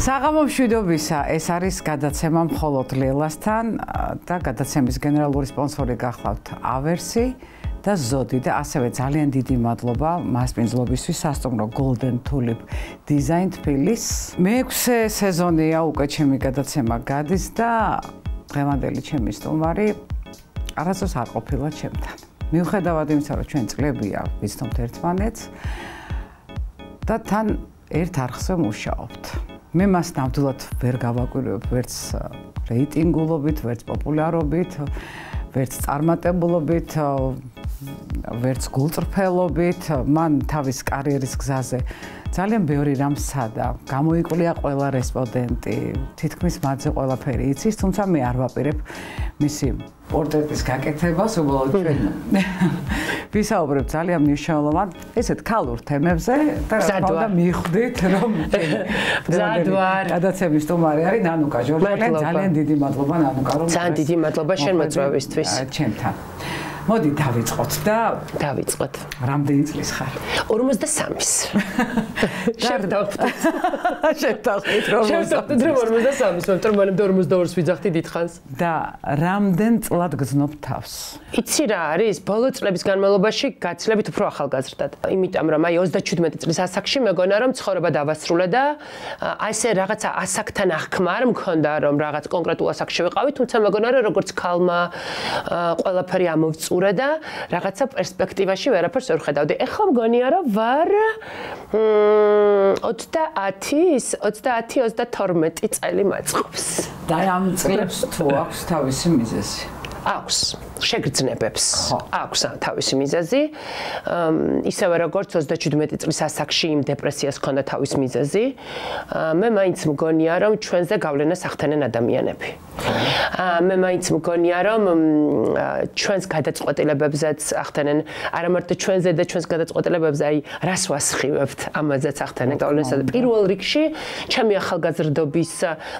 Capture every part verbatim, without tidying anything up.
საღამო მშვიდობისა, ეს არის გადაცემა მხოლოდ ლელასთან და გადაცემის გენერალური სპონსორი გახლავთ ავერსი და ზოდი და ასევე ძალიან დიდი მადლობა მასპინძლობისთვის სასტუმრო Golden Tulip Design თბილის. მეექვსე სეზონია უკვე ჩემი გადაცემა გადის და დღევანდელი ჩემი სტუმარი არასდროს არ ყოფილა ჩემთან. მიუხედავად იმისა, რომ ჩვენ წლებია ვიცნობთ ერთმანეთს და თან ერთ არხზე მუშაობთ. მე მას ნამდვილად ვერ გავაკვირვებ ვერც რეიტინგულობით, ვერც პოპულარობით, ვერც წარმატებულობით, ვერც გულწრფელობით. მან თავის კარიერის გზაზე ძალიან ბევრი რამ სცადა. გამოიკვლია ყველა რესპონდენტი, თითქმის მათზე ყველაფერი იცის, თუმცა მე არ ვაპირებ მისი პორტრეტის გაკეთებას, უბრალოდ ჩვენ ვისაუბრებ ძალიან მნიშვნელოვან, ესეთ ქალურ თემებზე და რა თქმა უნდა მივხვდით, რომ გადაცემის სტუმარი არის ნანუკა ჟორჟალიანი. ძალიან დიდი მადლობა ნანუკა, რომ ძალიან დიდი მადლობა შენ მოწვევისთვის. ჩემთან. მოდი დავიწყოთ და დავიწყოთ. რამდენი წლის ხარ? ორმოცდასამის. შევდავხტით. შევდავხტით რომ შევდავხტით რომ ორმოცდასამის, მაგრამ მანამდე ორმოცდაორს ვიძახდი დიდხანს. და რამდენ წლად გძნობ თავს? იცი რა არის? ბოლო წლების განმავლობაში გაცილებით უფრო ახალგაზრდად. იმიტომ რომ აი ოცდაჩვიდმეტი წლის ასაკში მეგონა რომ ცხოვრება დავასრულე და აი ესე რაღაცა ასაკთან აღქმა არ მქონდა რომ რაღაც კონკრეტულ ასაკში ვიყავი, თუმცა მეგონა რომ როგორც ქალმა ყველაფერი ამოვწურა და რაღაცა პერსპექტივაში ვერაფერს ვერ ხედავდი. ეხლა მგონია რომ ვარ ოცდაათის, ოცდაათი ოცდათორმეტი წელი მაწყობს. და ამ წლებს თუ აქვს თავისი მიზეზი? აქვს შეგრძნებებს. აქვს თავისი მიზეზი. ისევე როგორც ოცდაჩვიდმეტი წლის ასაკში იმ დეპრესიას ჰქონდა თავის მიზეზი. მე მაინც მგონია რომ ჩვენზე გავლენას ახდენენ ადამიანები. მე მაინც მგონია რომ ჩვენს გადაწყვეტილებებზეც ახდენენ არა მარტო ჩვენზე და ჩვენს გადაწყვეტილებებზე, აი რას ვასხივებთ, ამაზეც ახდენენ გავლენას. პირველ რიგში ჩემი ახალგაზრდობის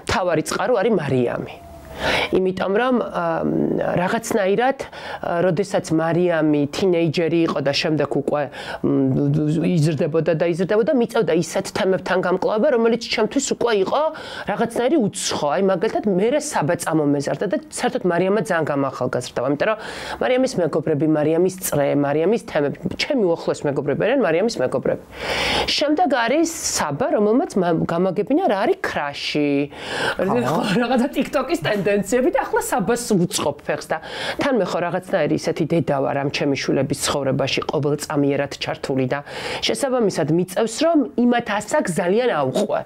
მთავარი წყარო არის მარიამი. იმიტომ რომ რაღაცნაირად, როდესაც მარიამი თინეიჯერი იყო და შემდეგ უკვე იზრდებოდა და იზრდებოდა, მიწევდა ისეთ თემებთან გამკლავება, რომელიც ჩემთვის უკვე იყო რაღაცნაირი უცხო. აი მაგალითად, მე საბაწამო მეზარდა და საერთოდ მარიამა ძალიან გამახალგაზრდა, იმიტომ რომ მარიამის მეგობრები, მარიამის წრე, მარიამის თემები, ჩემი უახლოესი მეგობრები არიან მარიამის მეგობრები. შემდეგ არის საბა, რომელმაც გამაგებინა რა არის ქრაში. რაღაცა TikTok-ის ტენდენციები და ახლა საბას უწყობ ფეხს და თან მე ხო რაღაცნაირი ისეთი დედა ვარ ამ ჩემი შვილების ცხოვრებაში ყოველწამიერად ჩართული და შესაბამისად მიწევს რომ იმათ ასაკს ძალიან აუყვე.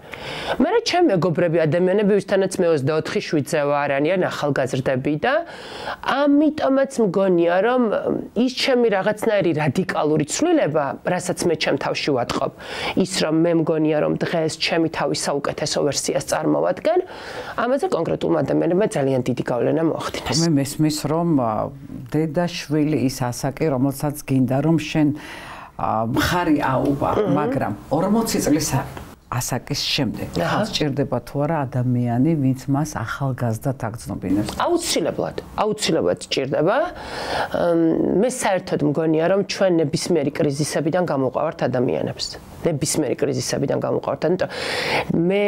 მე რა ჩემ მეგობრები ადამიანები ვისთანაც მე ოცდაოთხი შვიდზე ვარ, არიან ახალგაზრდები და ამიტომაც მგონია რომ ის ჩემი რაღაცნაირი რადიკალური ცვლილება, რასაც მე ჩემ თავში ვატყობ, ის რომ მე მგონია რომ დღეს ჩემი თავის საუკეთესო ვერსიას წარმოვადგენ, ამაზე კონკრეტულმა ადამიანებმა ძალიან დიდი გავლენა მოახდინეს. მე მესმის რომ დედა შვილი ის ასაკი, რომელსაც გინდა რომ შენ მხარი აუღვა, მაგრამ ორმოცი წლის ასაკის შემდეგ ხალხს ჭირდება თუ არა ადამიანი, ვინც მას ახალგაზრდად აგრძნობინებს? აუცილებლად, აუცილებლად ჭირდება. მე საერთოდ მგონია რომ ჩვენ ნებისმიერი კრიზისებიდან გამოვყავართ ადამიანებს. ნებისმიერი კრიზისებიდან გამოვყავართ. ანუ მე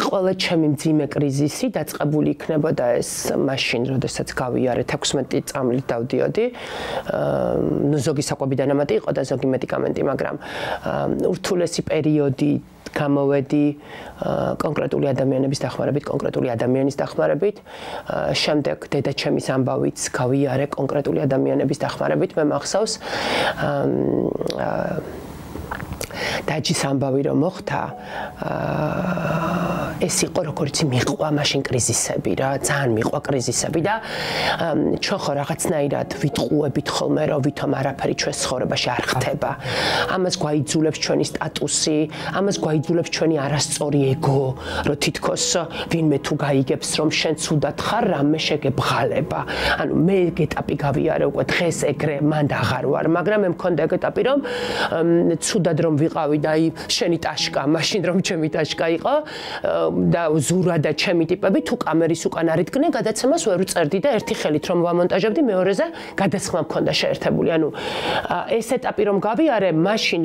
ყველა ჩემი მძიმე კრიზისი დაწყებული იქნებოდა ეს მაშინ, როდესაც გავიარეთ ექვსმეტი წამლით დავდიოდი. ნუ ზოგი საკვები დანამატი იყო და ზოგი მედიკამენტი, მაგრამ ურთულესი პერიოდი გამოვედი კონკრეტული ადამიანების დახმარებით, კონკრეტული ადამიანის დახმარებით. შემდეგ დედაჩემის ამბავიც გავიარე კონკრეტული ადამიანების დახმარებით. მე მახსოვს დაჯის ამბავი რომ მოხდა, ეს იყო როგორც მიყვა მაშინ კრიზისები რა, ძალიან მიყვა კრიზისები და ჩვენ ხო რაღაცნაირად ვიტყუებით ხოლმე რომ ვითომ არაფერი ჩვენს ცხოვრებაში არ ხდება. ამას გვაიძულებს ჩვენი სტატუსი, ამას გვაიძულებს ჩვენი არასწორი ეგო, რომ თითქოს ვინმე თუ გაიგებს რომ შენ ცუდად ხარ, რამე შეგებღალება. ანუ მე ეგ ეტაპი გავიარე უკვე დღეს ეგრე მანდ აღარ ვარ, მაგრამ მე მქონდა ეგ ეტაპი რომ ცუდად რომ ვიყავი და აი შენი ტაშკა, მაშინ რომ ჩემი ტაშკა იყო და ზურა და ჩემი ტიპები თუ კამერის უკან არიდგნენ, გადაცემას ვერ უწერდი და ერთი ხელით რომ ვამონტაჟებდი, მეორეზე გადასხმა მქონდა შეერთებული. ანუ ეს ეტაპი რომ გავიარე, მაშინ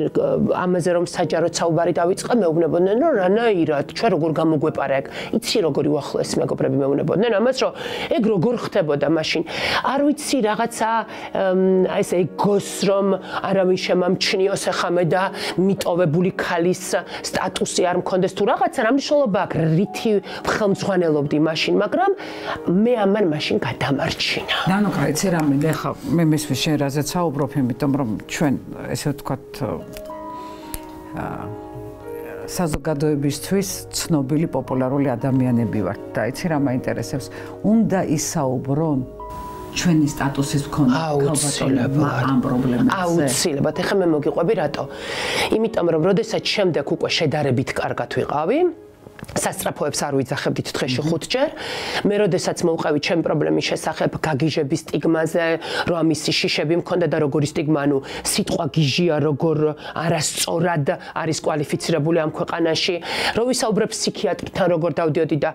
ამაზე რომ საჯაროდ საუბარი დავიწყე, მეუბნებოდნენ რომ რანაირად, ჩვენ როგორ გამოგვეპარა ეგ. იცი როგორი უახლოესი მეგობრები მეუბნებოდნენ ამას, რომ ეგ როგორ ხდებოდა მაშინ. არ ვიცი რაღაცა ეს ეგოს რომ არავინ შემამჩნიოს ახამე და მიტოვებული ქალის სტატუსი არ მქონდეს თუ რაღაცა რა მნიშვნელობა აქვს რითი ხელმძღვანელობდი მაშინ, მაგრამ მე ამან მაშინ გადამარჩინა. ნანუკა, იცი რამე, ეხლა მე მესმის შენ რაზეც საუბრობ, იმიტომ რომ ჩვენ ესე ვთქვათ საზოგადოებისთვის ცნობილი პოპულარული ადამიანები ვართ და იცი რა მაინტერესებს, უნდა ისაუბრონ ჩვენი სტატუსის მქონდა ქალბატონებმა ამ პრობლემებზე. აუცილებლად, ეხლა მე მოგიყვები რატო? იმიტომ რომ როდესაც შემდეგ უკვე შედარებით კარგად ვიყავი, სასწრაფოებს არ ვიძახებდით დღეში ხუთჯერ. მე როდესაც მოვყავი ჩემ პრობლემის შესახებ გაგიჟების სტიგმაზე, რომ ამისი შიშები მქონდა და როგორი სტიგმა, ანუ სიტყვა გიჟია, როგორ არასწორად არის კვალიფიცირებული ამ ქვეყანაში, რომ ვისაუბრებ ფსიქიატრთან, როგორ დავდიოდი და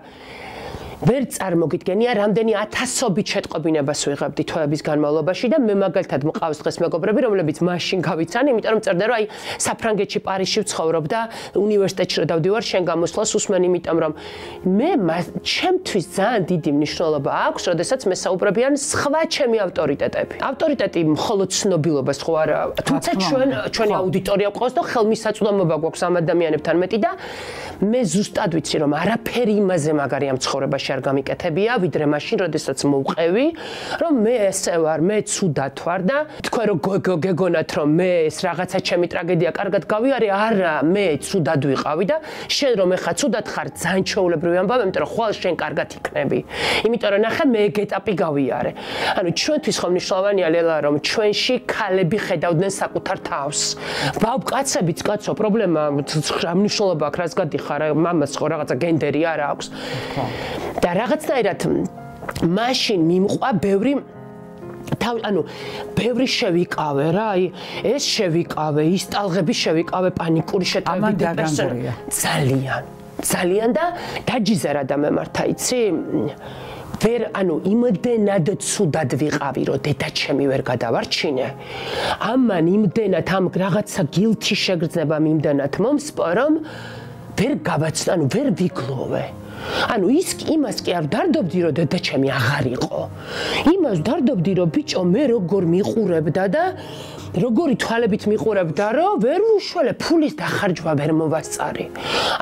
ვერ წარმოგიდგენია, რამდენი ათასობით შეტყობინებას ვიღებდი თვეების განმავლობაში და მე მაგალითად მყავს დღეს მეგობრები, რომლებიც მაშინ გავიცანი, იმიტომ რომ წერდა რომ აი საფრანგეთში პარიზში ვცხოვრობ და უნივერსიტეტში რომ დავდივარ, შენ გამოსვლას უსმენ, იმიტომ რომ მე ჩემთვის ძალიან დიდი მნიშვნელობა აქვს, როდესაც მე საუბრებიან სხვა ჩემი ავტორიტეტები. ავტორიტეტი მხოლოდ ცნობილობას ხო არა, თუმცა ჩვენ ჩვენი აუდიტორია გვყავს და ხელმისაწვდომობა გვაქვს ამ ადამიანებთან მეტი და მე ზუსტად ვიცი რომ არაფერი იმაზე მაგარი ამ ცხოვრებაში არ გამიკეთებია, ვიდრე მაშინ, როდესაც მოვყევი, რომ მე ესე ვარ, მე ცუდად ვარ და თქვენ რომ გეგონათ, რომ მე ეს რაღაცა ჩემი ტრაგედია კარგად გავიარე, არა, მე ცუდად ვიყავი და შენ რომ ეხა ცუდად ხარ, ძალიან ჩვეულებრივი ამბავი, იმიტომ რომ ხვალ შენ კარგად იქნები. იმიტომ რომ ნახე მე ეგ ეტაპი გავიარე. ანუ ჩვენთვის ხო მნიშვნელოვანია ლელა, რომ ჩვენში ქალები ხედავდნენ საკუთარ თავს. ბავკაცებიც კაცო, პრობლემა რა მნიშვნელობა აქვს, რას გადიხარ, მამას ხო რაღაცა გენდერი არ აქვს. და რაღაცნაირად მაშინ მიმყვა ბევრი თავ ანუ ბევრი შევიკავე რა, აი ეს შევიკავე, ის ტალღები შევიკავე, პანიკური შეტევები დეპრესია. ძალიან, ძალიან და დაჯიზერა და მემართა, იცი? ვერ ანუ იმდენად ცუდად ვიყავი, რომ დედაჩემი ვერ გადავარჩინე. ამან იმდენად ამ რაღაცა გილთი შეგრძნება იმდენად მომსპო, რომ ვერ გავაცნო, ანუ ვერ ვიგლოვე. ანუ ის იმას კი არ ვდარდობდი, რომ დედაჩემი აღარ იყო. იმას ვდარდობდი, რომ ბიჭო მე როგორ მიყურებდა და როგორი თვალებით მიყურებდა, რომ ვერ უშველე ფულის დახარჯვა ვერ მოვასწარი.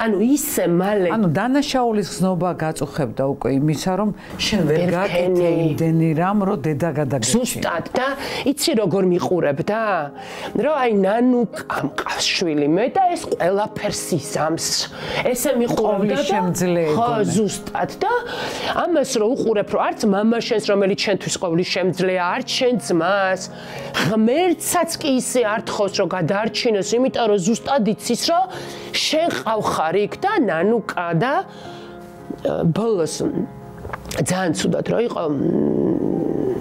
ანუ ისე მალე ანუ დანაშაულის გზნობა გაწუხებდა უკვე იმისა, რომ შენ ვერ გაკეთე იმდენი რამ, რომ დედა გადაგეჩი. ზუსტად და იცი როგორ მიყურებდა? რომ აი ნანუკა მყავს შვილი მე და ეს ყველაფერს იზამს. ესე მიყურებდა და ხო ზუსტად და ამას რომ უყურებ, რომ არც მამა შენს, რომელიც შენთვის ყოვლის შემძლეა, არც შენ ძმას, ღმერთს კი ისე არ თხოვს რომ გადაარჩინოს, იმიტომ რომ ზუსტად იცის რომ შენ ყავხარ იქ და ნანუკა და ბოლოს ძალიან ცუდად რო იყო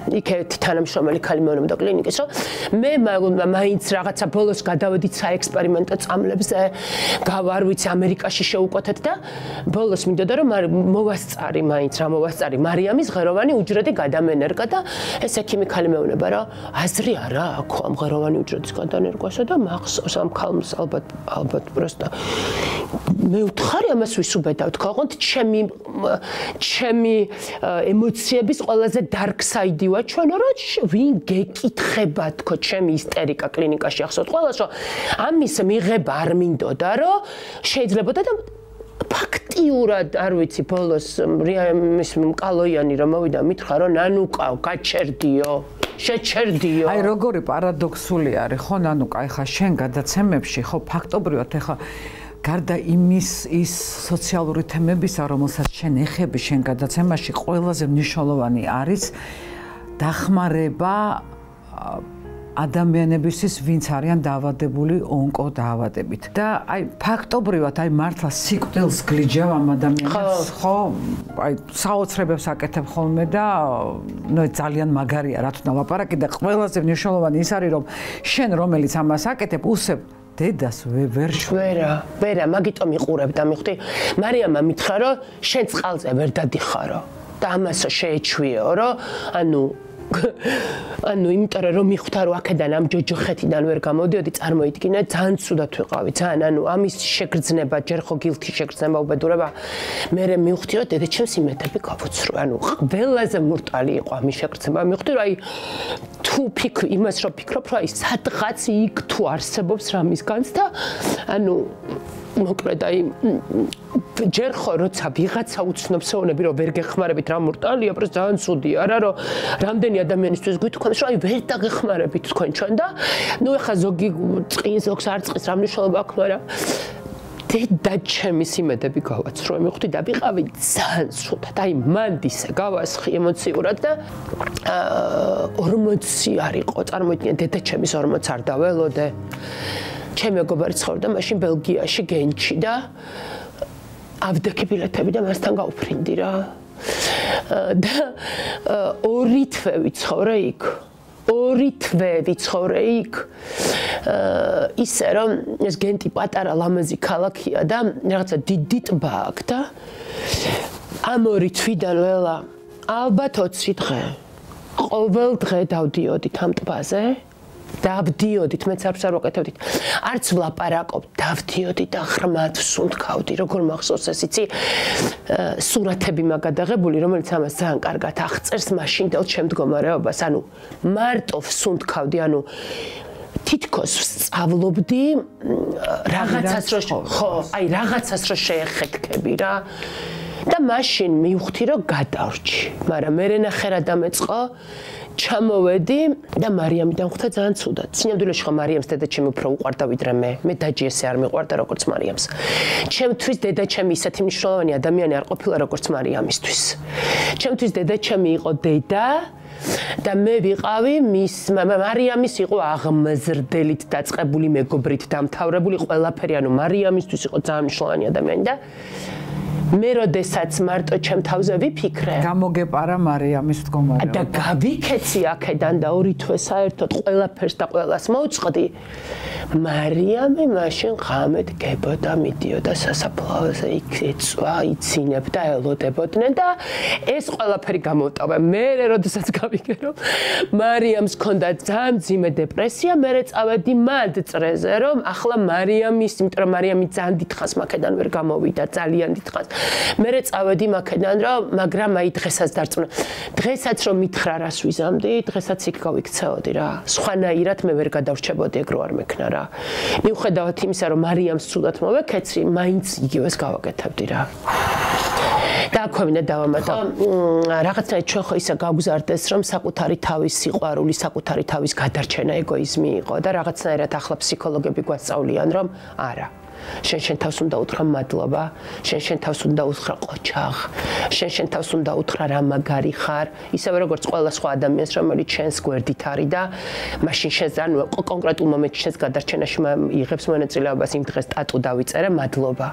იქეთ თანამშრომელი ქალი მეუბნებოდა კლინიკის, რომ მე მაინც რაღაცა ბოლოს გადავედით საექსპერიმენტო წამლებზე, გავარ ვიცი ამერიკაში შევუკეთეთ და ბოლოს მინდოდა რომ მოვასწარი მაინც რა მოვასწარი მარიამის ღეროვანი უჯრედი გადამენერგა და ეს ექიმი ქალი მეუბნება რომ აზრი არა აქვს ამ ღეროვანი უჯრედის გადანერგვასა და მახსოვს ამ ქალს ალბათ ალბათ პროსტა მე ვთხარი ამას ვისუბედავ თქვა ოღონდ ჩემი ჩემი ემოციების ყველაზე dark side ვარ ჩვენ რა ვინ გეკითხება თქო ჩემი ისტერიკა კლინიკაში ახსოვთ ყველას რომ ამის მიღება არ მინდოდა რომ შეიძლება და ფაქტიურად არ ვიცი ბოლოს მის მკალოიანი რომ მოვიდა მითხრა რომ ნანუკა გაჩერდიო შეჩერდიო აი როგორი პარადოქსული არის ხო ნანუკა ეხა შენ გადაცემებში ხო ფაქტობრივად ეხა გარდა იმის ის სოციალური თემებისა რომელსაც შენ ეხები შენ გადაცემაში ყველაზე მნიშვნელოვანი არის დახმარება ადამიანებისთვის ვინც არიან დაავადებული ონკოდაავადებით და აი ფაქტობრივად აი მართლა სიკვდილს გლიჯავ ამ ადამიანებს ხო აი საოცრებებს აკეთებ ხოლმე და ნუ ძალიან მაგარია რა თქმა უნდა ლაპარაკი და ყველაზე მნიშვნელოვანი ის არის რომ შენ რომელიც ამას აკეთებ უსებ დედას ვერ ვერა, ვერა, მაგიტომ იყურებდა, მიხვდი? მარიამმა მითხრა, რომ შენ წყალზე ვერ დადიხარო და ამასო შეეჩვიეო, რომ ანუ ანუ იმიტომ რომ მიხვდა რომ აქედან ამ ჯოჯოხეთიდან ვერ გამოდიოდი, წარმოიდგინე, ძალიან ცუდად ვიყავი, ძალიან ანუ ამის შეგრძნება, ჯერ ხო გილთი შეგრძნება, უბედურება. მე მივხვდი რომ დედაჩემს იმედები გავუცრო, ანუ ყველაზე მურტალი იყო ამის შეგრძნება. მივხვდი რომ აი თუ ფიქრ იმას რომ ფიქრობ რომ აი სადღაც იქ თუ არსებობს რამისგანც და ანუ მოკლედ აი ჯერ ხო როცა ვიღაცა უცნობს ეუბნები რომ ვერ გეხმარებით რა მურტალია, პროს ძალიან ცუდია რა რომ რამდენი ადამიანისთვის გვითქვამს რომ აი ვერ დაგეხმარებით თქვენ ჩვენ და ნუ ეხა ზოგი წყინს ზოგს არ წყის რა მნიშვნელობა აქვს, მაგრამ დედაჩემის იმედები გავაცრო, მივხვდი და ვიყავი ძალიან ცუდად, აი მანდისე გავასხი ემოციურად და ორმოცი არ იყო, წარმოიდგინე დედაჩემის ორმოც არ დაველოდე. ჩემი მეგობარი ცხოვრობდა მაშინ ბელგიაში, გენჩი და ავდექი ბილეთები და მასთან გავფრინდი რა. და ორი თვე ვიცხოვრე იქ. ორი თვე ვიცხოვრე იქ. ისე რომ ეს გენტი პატარა ლამაზი ქალაქია და რაღაცა დიდი ტბა აქვს და ამ ორი თვიდან ველა ალბათ ოცი დღე. ყოველ დღე დავდიოდით ამ ტბაზე. დავდიოდით, მეც არც არ ვაკეთებდით. არც ვლაპარაკობ, დავდიოდით და ღრმად ვსუნთქავდი, როგორ მახსოვს ეს იცი, სურათები მაგადაღებული, რომელიც ამას ძალიან კარგად აღწერს მაშინდელ შემდგომარეობას, ანუ მარტო ვსუნთქავდი, ანუ თითქოს ვსწავლობდი რაღაცას რომ ხო, აი რაღაცას რომ შეეხეთქები რა. და მაშინ მივხვდი რომ გადავრჩი, მაგრამ მე ნახე რა დამეწყო ჩამოვედი და მარიამიდან ხვდა ძალიან ცუდად. სინამდვილეში ხო მარიამს დედაჩემი უფრო უყვარდა ვიდრე მე. მე დაჯი ესე არ მიყვარდა როგორც მარიამს. ჩემთვის დედაჩემი ისეთი მნიშვნელოვანი ადამიანი არ ყოფილა როგორც მარიამისთვის. ჩემთვის დედაჩემი იყო დედა და მე ვიყავი მის მარიამის იყო აღმზრდელით დაწყებული მეგობრით დამთავრებული ყველაფერი, ანუ მარიამისთვის იყო ძალიან მნიშვნელოვანი ადამიანი და მე როდესაც მარტო ჩემ თავზე ვიფიქრე, გამოგეპარა მარიამის მდგომარეობა. და გავიქეცი აქედან და ორი თვე საერთოდ ყველაფერს და ყველას მოვწყდი. მარიამი მაშინ ღამედ გებოდა, მიდიოდა სასაფლაოზე, იქ ეწვა, იცინებდა, ელოდებოდნენ და ეს ყველაფერი გამოვტავა. მე როდესაც გავიგე რომ მარიამს ჰქონდა ძალიან მძიმე დეპრესია, მე წავედი მად წრეზე, რომ ახლა მარიამის, იმიტომ რომ მარიამი ძალიან დიდხანს მაქედან ვერ გამოვიდა, ძალიან დიდხანს. მე წავედი მაქედან რომ მაგრამ აი დღესაც დარწმუნა. დღესაც რომ მითხრა რას ვიზამდი, დღესაც იქ გავიქცეოდი რა. სხვანაირად მე ვერ გადავრჩებოდი ეგ რო არ მექნა რა. მიუხედავად იმისა რომ მარიამს ცუდად მოვეკეცი, მაინც იგივეს გავაკეთებდი რა. და აქვე დავამატო რაღაცნაირად ჩვენ ხო ისა გავგზარდეს რომ საკუთარი თავის სიყვარული, საკუთარი თავის გადარჩენა ეგოიზმი იყო და რაღაცნაირად ახლა ფსიქოლოგები გვასწავლიან რომ არა. შენ შენ თავს უნდა უთხრა მადლობა, შენ შენ თავს უნდა უთხრა ყოჩაღ, შენ შენ თავს უნდა უთხრა რა მაგარი ხარ, ისევე როგორც ყველა სხვა ადამიანს, რომელიც შენს გვერდით არის და მაშინ შენს ანუ კონკრეტულ მომენტში შენს გადარჩენაში იღებს მონაწილეობას, იმ დღეს ტატუ დავიწერე, მადლობა.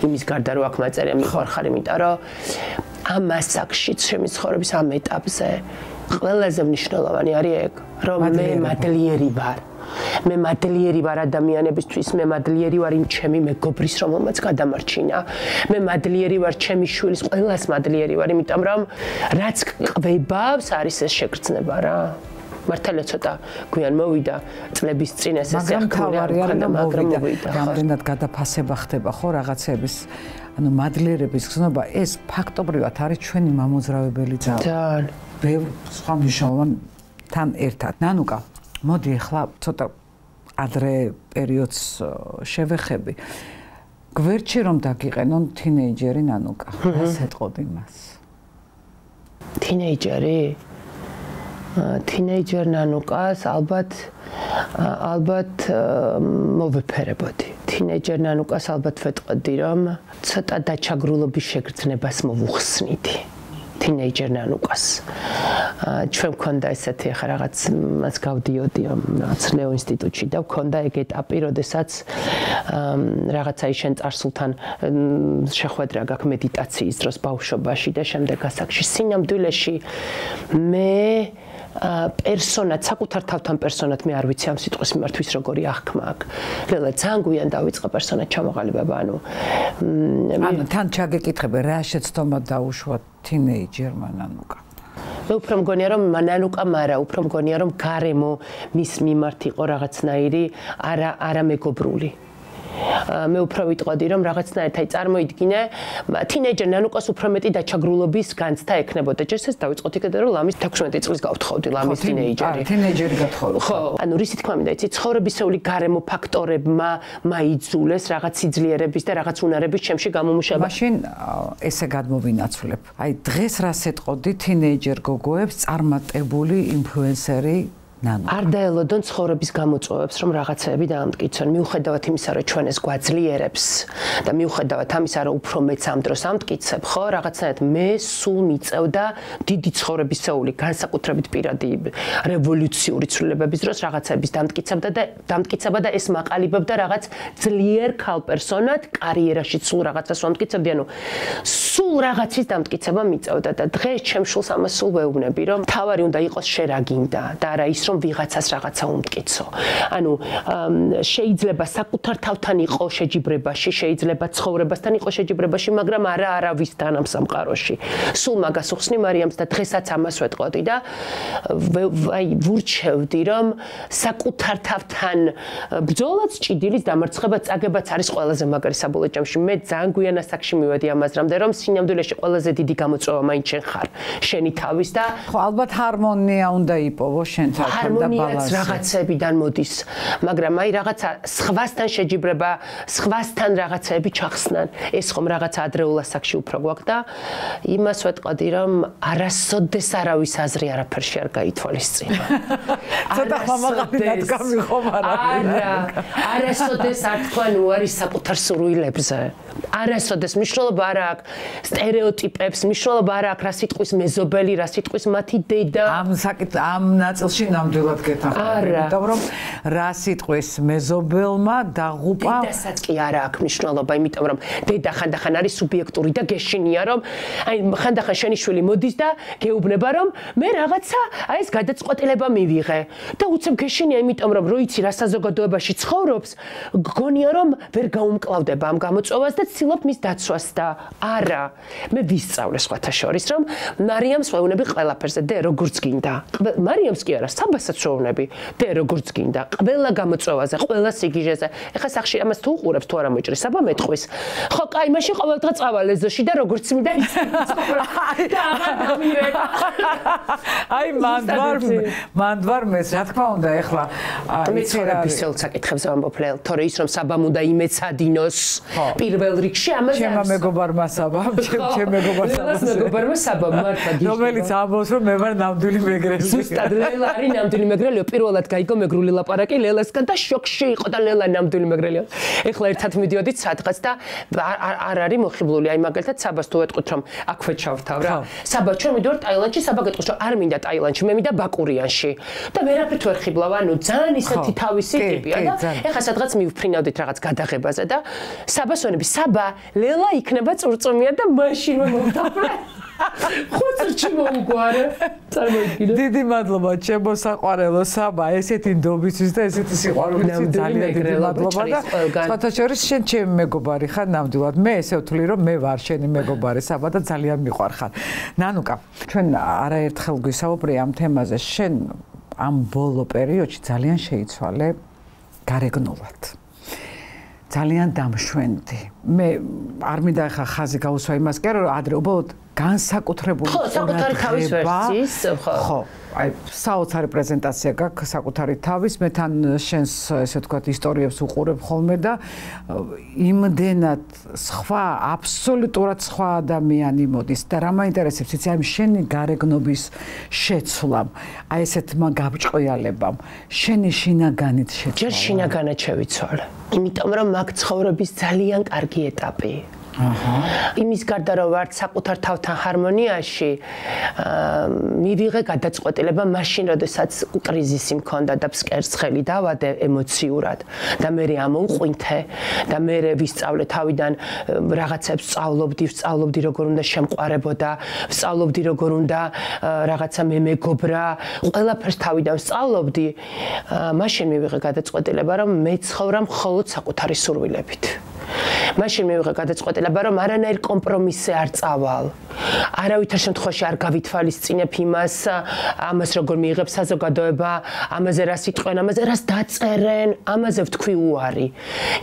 იმის გარდა რომ აქ მაწერია მიხარხარ, იმიტომ რომ ამ ასაკში ჩემი ცხოვრების ამ ეტაპზე ყველაზე მნიშვნელოვანი არის ეგ, რომ მე მადლიერი ვარ. მე მადლიერი ვარ ადამიანებისთვის, მე მადლიერი ვარ იმ ჩემი მეგობრის, რომელმაც გადამარჩინა. მე მადლიერი ვარ ჩემი შვილის, ყველას მადლიერი ვარ, იმიტომ რომ რაც ყვებავს არის ეს შეგრძნება რა. მართალია ცოტა გვიან მოვიდა წლების წინ ეს ეს ახლა მაგრამ მოვიდა. რამდენად გადაფასება ხდება ხო რაღაცების, ანუ მადლიერების გზნობა, ეს ფაქტობრივად არის ჩვენი მამოძრავებელი ძალა. ძალიან. ბევრ სხვა მნიშვნელოვანთან ერთად. ნანუკა, მოდი ახლა ცოტა ადრე პერიოდს შევეხები. გვერდში რომ დაგიყენონ თინეიჯერი ნანუკა, რას ეტყოდი მას? თინეიჯერი? თინეიჯერ ნანუკას ალბათ ალბათ მოვეფერებოდი. თინეიჯერ ნანუკას ალბათ ვეტყოდი რომ ცოტა დაჩაგრულობის შეგრძნებას მოვუხსნიდი. თინეიჯერ ნანუკას. ჩვენ მქონდა ესეთი ახლა რაღაც მას გავდიოდი რაღაც ლეო ინსტიტუტში და მქონდა ეგ ეტაპი, როდესაც რაღაცა შენ წარსულთან შეხვედრა გაქვს მედიტაციის დროს ბავშვობაში და შემდეგ ასაკში. სინამდვილეში მე პერსონად, საკუთარ თავთან პერსონად მე არ ვიცი ამ სიტყვის მიმართვის როგორი აღქმა აქვს. ლელა ძალიან გვიან დავიწყა პერსონად ჩამოყალიბება, ანუ ანუ თან ჩაგეკითხები რა შეცდომა დაუშვა თინეიჯერმა ნანუკა. მე უფრო მგონია რომ ნანუკა მარა, უფრო მგონია რომ გარემო მის მიმართ იყო რაღაცნაირი არა არა მეგობრული. მე უფრო ვიტყოდი რომ რაღაცნაირად აი წარმოიდგინე თინეიჯერ ნანუკას უფრო მეტი დაჩაგრულობის განცდა ექნებოდა. ჯერ ეს დავიწყოთ იქიდან რომ ლამის თექვსმეტი წლის გავთხოვდი ლამის თინეიჯერი. თინეიჯერი გათხოვდი. ხო, ანუ რისი თქმა მინდა, იცი ცხოვრებისეული გარემო ფაქტორებმა მაიძულეს რაღაც სიძლიერების და რაღაც უნარების ჩემში გამომუშავება. მაშინ ესე გადმოვინაცვლებ. აი დღეს რას ეტყოდი თინეიჯერ გოგოებს წარმატებული ინფლუენსერი ნანუკა. არ დაელოდონ ცხოვრების გამოწვევებს, რომ რაღაცეები დაამტკიცონ. მიუხედავად იმისა, რომ ჩვენ ეს გვაძლიერებს და მიუხედავად ამისა, რომ უფრო მეც ამ დროს ამტკიცებ, ხო, რაღაცნაირად მე სულ მიწევდა დიდი ცხოვრებისეული, განსაკუთრებით პირადი რევოლუციური ცვლილებების დროს რაღაცეების დამტკიცებდა და დამტკიცება და ეს მაყალიბებდა რაღაც ძლიერ ქალ პერსონად კარიერაში სულ რაღაცას ვამტკიცებდი, ანუ სულ რაღაცის დამტკიცება მიწევდა და დღეს ჩემ შულს ამას სულ ვეუბნები, რომ თავარი უნდა იყოს შენ რა გინდა და არა ის რომ ვიღაცას რაღაცა უმტკიცო. ანუ შეიძლება საკუთარ თავთან იყო შეჯიბრებაში, შეიძლება ცხოვრებასთან იყო შეჯიბრებაში, მაგრამ არა არავისთან ამ სამყაროში. სულ მაგას უხსნი მარიამს და დღესაც ამას ვეტყოდი და აი ვურჩევდი რომ საკუთარ თავთან ბრძოლაც ჭიდილის დამარცხება წაგებაც არის ყველაზე მაგარი საბოლოო ჯამში. მე ძალიან გვიან ასაკში მივედი ამაზრამდე რომ სინამდვილეში ყველაზე დიდი გამოწვევა მაინც შენ ხარ. შენი თავის და ხო ალბათ ჰარმონია უნდა იპოვო შენთან. ჰარმონიაც რაღაცებიდან მოდის, მაგრამ აი რაღაცა სხვასთან შეჯიბრება, სხვასთან რაღაცები ჩახსნან. ეს ხომ რაღაცა ადრეულ ასაკში უფრო გვაქვს და იმას ვეტყოდი, რომ არასოდეს არავის აზრი არაფერში არ გაითვალისწინა. ცოტა მამაყალინად გამიხომ არა. არა, არასოდეს არ თქვა ნუ არის საკუთარ სურვილებზე. არასოდეს მნიშვნელობა არ აქვს სტერეოტიპებს, მნიშვნელობა არ აქვს რა სიტყვის მეზობელი, რა სიტყვის მათი დედა. ამ საკითხ ამ ნაწილში ნამდვილად გეთანხმები, იმიტომ რომ რა სიტყვის მეზობელმა დაღუპა დედასაც კი არ აქვს მნიშვნელობა, იმიტომ რომ დედა ხანდახან არის სუბიექტური და გეშინია რომ აი ხანდახან შენი შვილი მოდის და გეუბნება რომ მე რაღაცა აი ეს გადაწყვეტილება მივიღე და უცებ გეშინია, იმიტომ რომ როიცი რა საზოგადოებაში ცხოვრობს, გგონია რომ ვერ გაუმკლავდება ამ გამოწვევას და ცდილობ მის დაცვას და არა, მე ვისწავლე სხვათა შორის რომ მარიამს ვეუბნები ყველაფერზე და როგორც გინდა. მარიამს კი არა, საბასაც ვეუბნები და როგორც გინდა, ყველა გამოწვევაზე, ყველა სიგიჟეზე. ეხლა სახში ამას თუ უყურებს თუ არა მოჭრის, საბა მეტყვის. ხო, კაი, მაშინ ყოველდღე წავალ ეზოში და როგორც მინდა და აღარ დამირეკ. აი, მანდვარ, მანდვარ მეს, რა თქმა უნდა, ეხლა მე ცხოვრებისეულ საკითხებზე ვამბობ, თორე ის რომ საბამ უნდა იმეცადინოს პირველ რიგში ამაზე ჩემმა მეგობარმა საბამ, ჩემ მეგობარმა საბამ. მეგობარმა საბამ მართლა გიჟდება. რომელიც ამბობს რომ მე ვარ ნამდვილი მეგრელი. ზუსტად ლელა არის ნამდვილი მეგრელიო, პირველად გაიგო მეგრული ლაპარაკი ლელასგან და შოკში იყო და ლელა ნამდვილი მეგრელიო. ეხლა ერთად მიდიოდით სადღაც და არ არის მოხიბლული, აი მაგალითად საბას თუ ეტყვით რომ აქვე ჩავთავ რა. საბა ჩვენ მიდივართ ტაილანდში, საბა გეტყვის რომ არ მინდა ტაილანდში, მე მინდა ბაკურიანში. და ვერაფრით ვერ ხიბლავ, ანუ ძალიან ისეთი თავისი ტიპია და ეხლა სადღაც მივფრინავდით რაღაც გადაღებაზე და საბას ვენები, საბა ლელა იქნება წურწუმია და მაშინ მომთავრე. ხუთი მოუგვარე. წარმოიდგინე. დიდი მადლობა ჩემო საყვარელო საბა, ესეთი ნდობისთვის და ესეთი სიყვარულისთვის ძალიან დიდი მადლობა და სხვათა შორის შენ ჩემი მეგობარი ხარ ნამდვილად. მე ესე ვთვლი რომ მე ვარ შენი მეგობარი საბა და ძალიან მიყვარხარ. ნანუკა, ჩვენ არაერთხელ გვისაუბრე ამ თემაზე, შენ ამ ბოლო პერიოდში ძალიან შეიცვალე გარეგნულად. ძალიან დამშვენდი. მე არ მინდა ხა ხაზი გაუსვა იმას კი არა რომ ადრე უბრალოდ განსაკუთრებული ხო, საკუთარი თავის ვერსიის, ხო. ხო, აი საოცარი პრეზენტაცია გაქვს საკუთარი თავის, მე თან შენს ესე ვთქვათ ისტორიებს უყურებ ხოლმე და იმდენად სხვა, აბსოლუტურად სხვა ადამიანი მოდის და რა მაინტერესებს, იცი, აი შენი გარეგნობის შეცვლამ, აი ესეთმა გაბჭყიალებამ, შენი შინაგანით შეცვალა. ჯერ შინაგანად შევიცვალე. იმიტომ რომ მაგ ცხოვრების ძალიან კარგი ეტაპი. იმის გარდა რომ ვართ საკუთარ თავთან ჰარმონიაში, მივიღე გადაწყვეტილება მაშინ, როდესაც კრიზისი მქონდა და ფსკერცხელი დავადე ემოციურად და მე ამოუყვინთე და მე ვისწავლე თავიდან რაღაცებს სწავლობდი, სწავლობდი როგორ უნდა შემყარებოდა, სწავლობდი როგორ უნდა რაღაცა მე მეგობრა, ყველაფერს თავიდან სწავლობდი, მაშინ მივიღე გადაწყვეტილება, რომ მე ცხოვრა მხოლოდ საკუთარი სურვილებით. მაშინ მივიღე გადაწყვეტილება, რომ არანაირ კომპრომისზე არ წავალ. არავითარ შემთხვევაში არ გავითვალისწინებ იმას, ამას როგორ მიიღებ საზოგადოება, ამაზე რას იტყვენ, ამაზე რას დაწერენ, ამაზე ვთქვი უარი.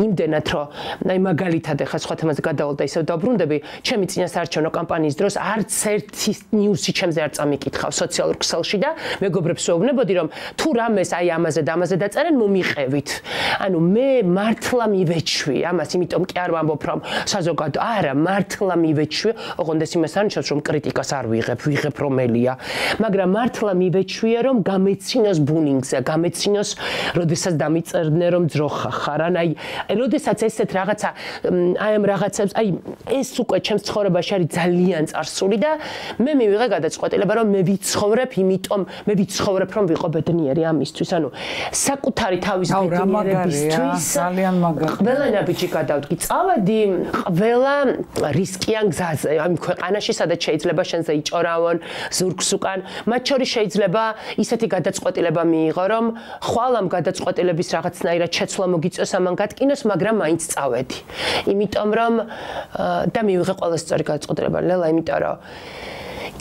იმდენად, რომ აი მაგალითად ახლა სხვა თემაზე გადავალ და ისევ დავბრუნდები, ჩემი წინასაარჩევნო კამპანიის დროს არც ერთი ნიუსი ჩემზე არ წამიკითხავ სოციალურ ქსელში და მეგობრებს ვეუბნებოდი, რომ თუ რამეს აი ამაზე და ამაზე დაწერენ, მომიყევით. ანუ მე მართლა მივეჩვი ამას, იმიტომ კი არ ვამბობ, რომ საზოგადო არა, მართლა მივეჩვი, ოღონდ ეს იმას არნიშნავს, რომ კრიტიკას არ ვიღებ, ვიღებ რომელია, მაგრამ მართლა მივეჩვია, რომ გამეცინოს ბუნინგზე, გამეცინოს, როდესაც დამიწერდნენ, რომ ძროხა ხარ, აი, როდესაც ესეთ რაღაცა, აი ამ რაღაცებს, აი ეს უკვე ჩემს ცხოვრებაში არის ძალიან წარსული და მე მივიღე გადაწყვეტილება, რომ მე ვიცხოვრებ, იმიტომ მე ვიცხოვრებ, რომ ვიყო ბედნიერი ამისთვის, ანუ საკუთარი თავის ბედნიერებისთვის, ძალიან მაგარი. ყველა ნაბიჯი გადავდგი, წავედი ყველა რისკიან გზაზე, ამ ქვეყანაში, სადაც შეიძლება შენზე იჭორავონ ზურგს უკან, მათ შორის შეიძლება ისეთი გადაწყვეტილება მიიღო, რომ ხვალ ამ გადაწყვეტილების რაღაცნაირად შეცვლა მოგიწევს ამან გატკინოს, მაგრამ მაინც წავედი. იმიტომ რომ და მივიღე ყველა სწორი გადაწყვეტილება, ლელა, იმიტომ რომ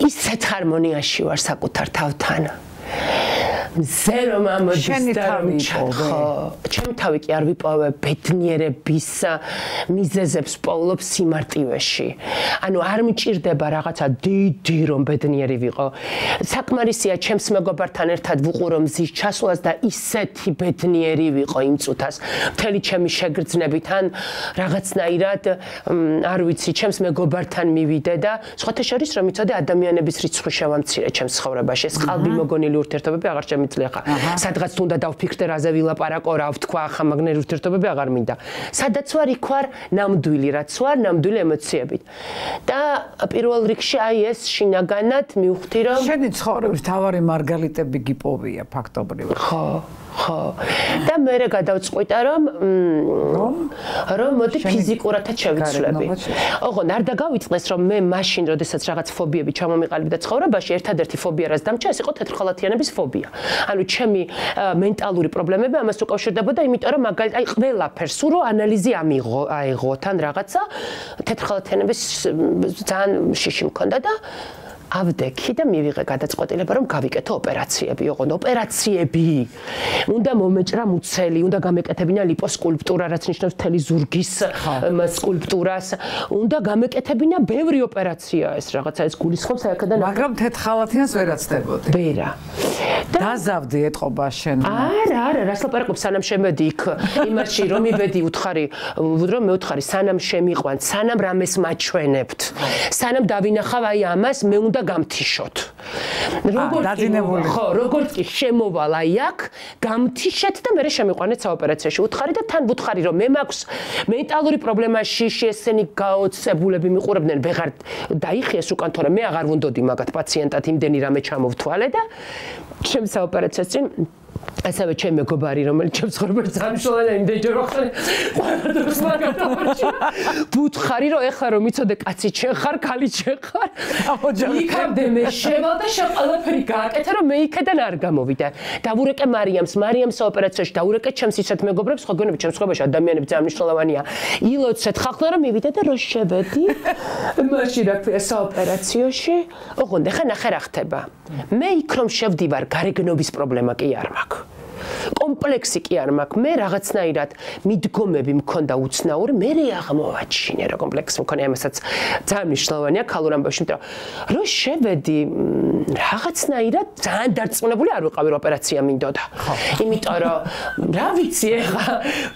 ისეთ ჰარმონიაში ვარ საკუთარ თავთან. მზე რომ ამოდის და რომ ჩახო, ჩემი თავი კი არ ვიპოვე ბედნიერების მიზეზებს პოულობ სიმარტივეში. ანუ არ მჭირდება რაღაცა დიდი რომ ბედნიერი ვიყო. საკმარისია ჩემს მეგობართან ერთად ვუყურო მზის ჩასვლას და ისეთი ბედნიერი ვიყო იმ წუთას. მთელი ჩემი შეგრძნებით ან რაღაცნაირად არ ვიცი, ჩემს მეგობართან მივიდე და სხვათა შორის რომ იცოდე ადამიანების რიცხვი შევამცირე ჩემს ცხოვრებაში. ეს ყალბი მოგონილი ურთიერთობები აღარ შემიძლია ხა. სადღაც თუნდა დავფიქრდე რაზე ვილაპარაკო, რა ვთქვა, ახლა მაგნერი ურთიერთობები აღარ მინდა. სადაც ვარ, იქ ვარ ნამდვილი, რაც ვარ, ნამდვილი ემოციებით. და პირველ რიგში აი ეს შინაგანად მივხვდი, რომ შენი ცხოვრების თავარი მარგალიტები გიპოვია ფაქტობრივად. ხო. ხო. და მე გადავწყვიტა, რომ რომ მოდი ფიზიკურადაც შევიცვლები. ოღონდ არ დაგავიწყდეს, რომ მე მაშინ, როდესაც რაღაც ფობიები ჩამომიყალიბდა ცხოვრებაში, ერთადერთი ფობია, რაც დამჭა, ეს იყო თეთრხალათიანების ფობია. ანუ ჩემი მენტალური პრობლემები ამას უკავშირდებოდა, იმიტომ რომ მაგალითად, აი ყველაფერს ურო ანალიზი ამიღო, აიღო თან რაღაცა თეთრხალათიანების ძალიან შიში მქონდა და ავდექი და მივიღე გადაწყვეტილება, რომ გავიკეთო ოპერაციები, ოღონდ ოპერაციები. უნდა მომეჭრა მუცელი, უნდა გამეკეთებინა ლიპოსკულპტურა, რაც ნიშნავს მთელი ზურგის სკულპტურას. უნდა გამეკეთებინა ბევრი ოპერაცია, ეს რაღაცა ეს გულისხმობს აქედან. მაგრამ თეთრხალათიანს ვერაცდებოდი. ვერა. დაზავდი ეთყობა შენ. არა, არა, რას ლაპარაკობ, სანამ შემედი იქ იმაში, რომ იბედი უთხარი, რომ მე უთხარი, სანამ შემიყვან, სანამ რამეს მაჩვენებთ. სანამ დავინახავ აი ამას, მე უნდა გამთიშოთ. როგორც ხო, როგორც კი შემოვალ აი აქ, გამთიშეთ და მე შემიყვანეთ საოპერაციაში. უთხარი და თან ვუთხარი, რომ მე მაქვს მენტალური პრობლემა, შიში, ესენი გაოცებულები მიყურებდნენ, ვეღარ დაიხიეს უკან, თორემ მე აღარ ვუნდოდი მაგათ პაციენტად იმდენი რამე ჩამოვთვალე და ჩემ საოპერაციას წინ ასევე ჩემი მეგობარი, რომელიც ჩემს ცხოვრებაში ძალიან მნიშვნელოვანია, იმდენჯერ ვახსენე, ყველა დროს მაგათავარჩია. ვუთხარი, რომ ეხლა რომ იცოდე, კაცი ჩვენ ხარ, ქალი ჩვენ ხარ. იქამდე მე შევალ და შენ ყველაფერი გააკეთე, რომ მე იქიდან არ გამოვიდე. დავურეკე მარიამს, მარიამს საოპერაციაში დავურეკე ჩემს ისეთ მეგობრებს, ხო გონები ჩემს ცხოვრებაში ადამიანები ძალიან მნიშვნელოვანია. ილოცეთ ხახლა რომ მივიდე და რო შევედი, მაშინ რა ქვია საოპერაციაში, ოღონდ ეხლა ნახე რა ხდება. მე იქ რომ შევდივარ, გარეგნობის პრობლემა კი არ მაქვს. კომპლექსი კი არ მაქვს. მე რაღაცნაირად მიდგომები მქონდა უცნაური, მე აღმოვაჩინე რა კომპლექსი მქონია, ამასაც ძალიან მნიშვნელოვანია ქალურ ამბავში, იმიტომ რომ შევედი რაღაცნაირად ძალიან დარწმუნებული არ ვიყავი, რომ ოპერაცია მინდოდა. იმიტომ რომ რა ვიცი ეხლა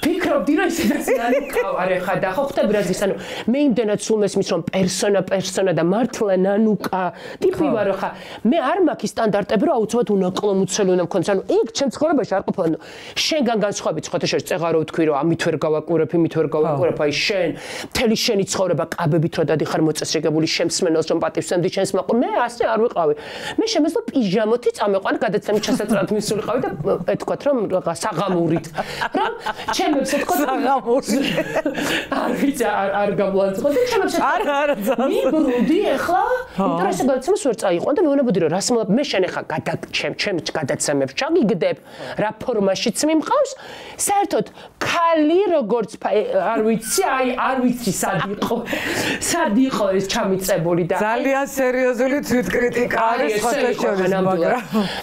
ფიქრობდი რომ ისედაც ნანუკავარ ეხლა და ხო ხვდები რა ზის, ანუ მე იმდენად სულ მესმის რომ პერსონა პერსონა და მართლა ნანუკა ტიპი ვარ ხა. მე არ მაქვს სტანდარტები, რომ აუცილებლად უნაკლო მუცელი უნდა მქონდეს. ანუ იქ ჩემ ცხოვრებაში არ ყოფილა. შენგან განსხვავებით ხოთაშორის წეღარო ვთქვი რომ ამით ვერ გავაკურებ, იმით ვერ გავაკურებ, აი შენ მთელი შენი ცხოვრება კაბებით რო დადიხარ მოწესრიგებული შემსმენელს რომ პატივსცემდი შენს მაყურ, მე ასე არ ვიყავი. მე შემეძლო პიჟამოთი წამეყვანი გადაცემის ჩასაწრად მისულიყავი და ეთქვათ რომ რაღა საღამურით. რომ ჩემებს ეთქვათ საღამური. არ ვიცი არ გამოვაწყო და ჩემებს არ არ მიბრუნდი ახლა, იმიტომ რომ ესე გადაცემას ვერ წაიყვან და მეუბნებოდი რომ რას მე შენ ახლა გადაჩემ ჩემ გადაცემებს ჩაგიგდებ, რა ფორმაშიც მიმყავს, საერთოდ ქალი როგორც არ ვიცი, აი არ ვიცი სად იყო. სად იყო ეს ჩამიწებული და ძალიან სერიოზული თვითკრიტიკა არის ხოთაშორის, მაგრამ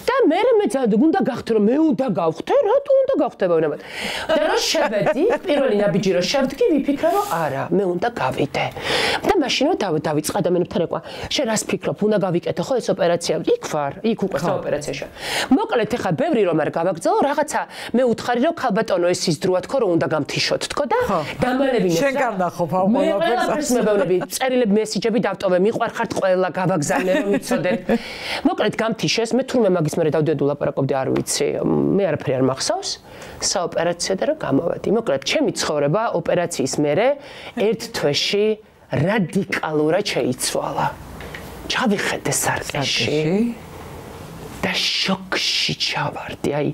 და მე მე უნდა გავხდე რომ მე უნდა გავხდე, რატო უნდა გავხდება უნებად. და რა შევედი, პირველი ნაბიჯი რომ შევდგი, ვიფიქრე რომ არა, მე უნდა გავიდე. და მაშინვე დავიწყე ადამიანებთან ეკვა. შენ რას ფიქრობ, უნდა გავიკეთო ხო ეს ოპერაცია? იქ ვარ, იქ უკვე საოპერაციაშია. მოკლედ ეხა ბევრი რომ არ გავაგრძელო, რაღაცა მე უთხარი რომ ქალბატონო ეს ის დროა თქო რომ უნდა გამთიშოთ თქო და დამალევინე. შენ გარნახობ ამ ყველაფერს მებევნები, წერილები, მესიჯები დავტოვე, მიყვარხართ ყველა, გავაგზავნე რომ იცოდეთ. მოკლედ გამთიშეს, მე თურმე მაგის მერე დავდიოდი ვლაპარაკობდი, არ ვიცი, მე არაფერი არ მახსოვს. საოპერაციო და რა გამოვედი. მოკლედ ჩემი ცხოვრება ოპერაციის მერე ერთ თვეში რადიკალურად შეიცვალა. ჩავიხედე სარკეში და შოკში ჩავარდი. აი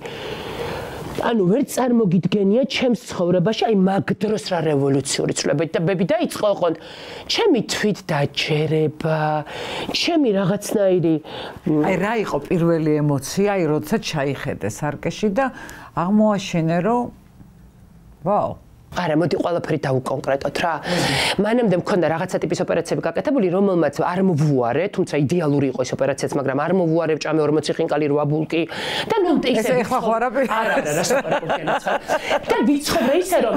ანუ ვერ წარმოგიდგენია ჩემს ცხოვრებაში აი მაგ დროს რა რევოლუციური ცვლილებები და ბები დაიწყო ოღონდ ჩემი თვით დაჯერება, ჩემი რაღაცნაირი აი რა იყო პირველი ემოცია, აი როცა ჩაიხედე სარკეში და აღმოაჩინე რომ ვაუ არა, მოდი ყველაფერი დავუკონკრეტოთ რა. მანამდე მქონდა რაღაცა ტიპის ოპერაციები გაკეთებული, რომელმაც არ მოვუარე, თუმცა იდეალური იყო ეს ოპერაციაც, მაგრამ არ მოვუარე ჭამე ორმოცი ხინკალი რვა ბულკი და ნუ ესე ეხლა ხო არაფერი. არა, არა, რა საპარაკობია. და ვიცხოვრე ისე რომ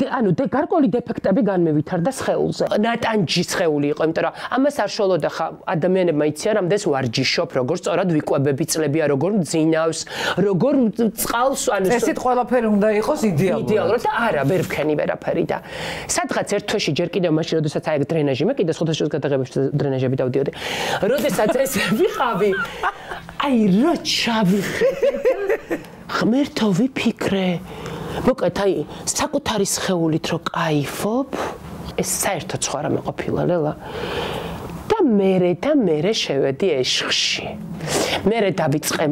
ანუ გარკვეული დეფექტები განმევითარდა სხეულზე. ნატანჯი სხეული იყო, იმიტომ რომ ამას არ შოლოდა ხა ადამიანებმა იციან, რამდენს ვარჯიშობ, როგორ სწორად ვიკვებები წლებია, როგორ მძინავს, როგორ წყალს ანუ ესეთ ყველაფერი უნდა იყოს იდეალურად. იდეალურად და არა, ვერ ვქენი ვერაფერი და სადღაც ერთ თვეში ჯერ კიდევ მაშინ როდესაც აი დრენაჟი მე კიდე ხუთასჯერს გადაღებებში დრენაჟები დავდიოდი. როდესაც ეს ვიყავი აი რა ჩავიხედე ღმერთო ვიფიქრე მოკლედ აი საკუთარი სხეულით რო კაიფობ ეს საერთოდ სხვა რამე ყოფილა ლელა და მერე და მერე შევედი ეშხში. მერე დავიწყე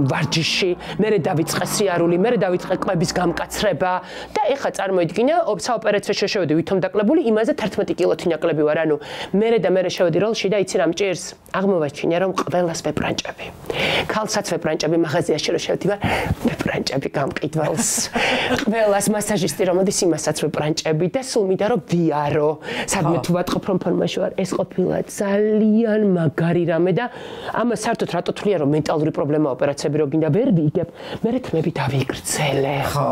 ვარჯიში, მერე დავიწყე სიარული, მერე დავიწყე კვების გამკაცრება და ეხა წარმოიდგინე საოპერაციო შევედი ვითომ დაკლებული, იმაზე თერთმეტი კილოთი ნაკლები ვარ, ანუ მერე და მერე შევედი როლში და იცი რა მჭირს? აღმოვაჩინე რომ ყველას ვეპრანჭები. ქალსაც ვეპრანჭები, მაღაზიაში რო შევედი ვარ, ვეპრანჭები გამყიდველს. ყველას მასაჟისტი რომ მოდის იმასაც ვეპრანჭები და სულ მინდა რომ ვიარო. სადმე თუ ვატყობ რომ ფორმაში ვარ, ეს ყოფილა ძალიან მაგარი რამე და ამას საერთოდ რატო თვლიან რომ მენტალური პრობლემა ოპერაციები რო გინდა ვერ ვიგებ, მე რთმები დავიგრძელე. ხო.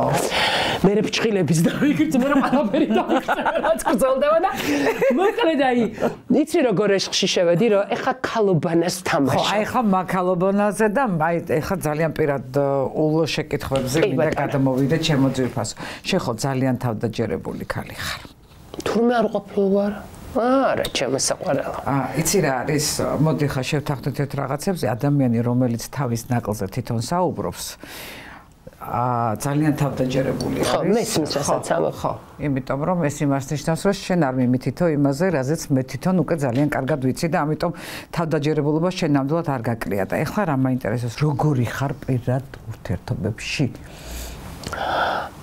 მე ფჭყილების დავიგრძელე, მე ყველაფერი დავიგრძელე, რაც გრძელდება და მოკლედ აი, იცი როგორ ეშხში შევედი, რომ ეხა ქალობანას თამაშობ. ხო, აი ხა მაქალობანაზე და აი ეხა ძალიან პირად ულო შეკითხვებზე მინდა გადამოვიდე ჩემო ძვირფასო. შენ ხო ძალიან თავდაჯერებული ქალი ხარ. თურმე არ ყოფილი ვარ. არა, ჩემო საყვარელო. აა, იცი რა არის, მოდი ხა შევთანხმდეთ ერთ რაღაცებზე, ადამიანი რომელიც თავის ნაკლზე თვითონ საუბრობს, აა, ძალიან თავდაჯერებული არის. ხო, მესმის რასაც ამბობ. ხო, იმიტომ რომ ეს იმას ნიშნავს, რომ შენ არ მიმითითო იმაზე, რაზეც მე თვითონ უკვე ძალიან კარგად ვიცი და ამიტომ თავდაჯერებულობა შენ ნამდვილად არ გაკრია და ეხლა რა მაინტერესებს, როგორი ხარ პირად ურთიერთობებში?